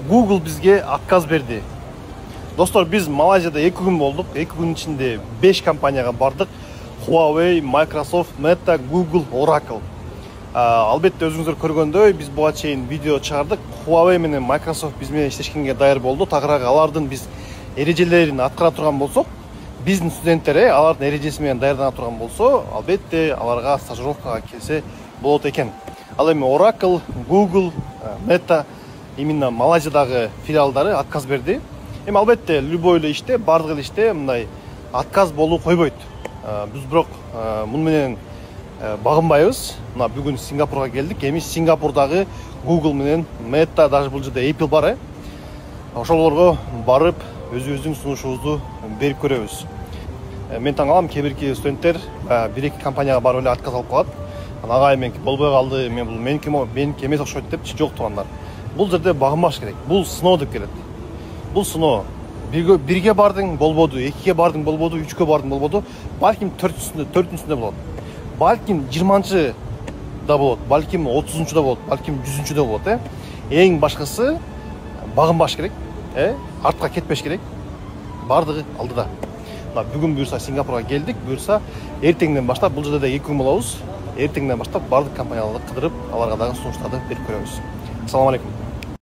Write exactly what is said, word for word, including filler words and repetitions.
Google бизге отказ берди. Достор, биз Малайзияда эки күн болдук. эки күн ичинде беш компанияга бардык. Huawei, Microsoft, Meta, Google, Oracle. Албетте өзүңүздөр көргөндөй, биз буга чейин видео чыгардык. Huawei менен Microsoft биз менен иштешкенге даяр болду. Тагыраак алардын биз эрежелерин аткара турган болсок, биздин студенттер алардын эрежеси менен даярдана турган болсо, албетте аларга стажировкага келсе болот экен. Ал эми Oracle, Google, Meta именно Малайзиядагы филиалдары отказ берди. Эми албетте любой эле иште, бардык эле иште мындай отказ болуу койбойт. Биз бирок муну менен багынбайбыз. Мына бүгүн Сингапурга келдик. Эми Сингапурдагы Google менен Meta, даже бул жерде Apple бар э. Ошолорго барып өзүбүздүн сунушубузду берип көрөбүз. Мен таң калам, кээ бирки студенттер бир-эки компанияга барып эле отказ алып калат. Агай меники болбой калды, мен бул меники меники эмес окшойт депчи. Жок туугандар. Бул жерде багынбаш керек. Бул сыноо деп келет. Бул сыноо. Бирге бирге бардың болбоду, экиге бардың болбоду, үчкө бардың болбоду. Балким төртүнчүсүндө, төртүнчүсүндө болот. Балким жыйырманчы да болот, балким отузунчу да болот, балким жүзүнчү да болот, э. Эң башкысы багынбаш керек, э. Артка кетпеш керек. Бардыгы алдыда. Мына бүгүн буюрса Сингапурга келдик, буюрса эртеңден баштап бул жерде эки күн болобуз. Эртеңден баштап бардык компанияларды кыдырып, аларга дагы сунуштарды берип көрөбүз. Ассаламу алейкум.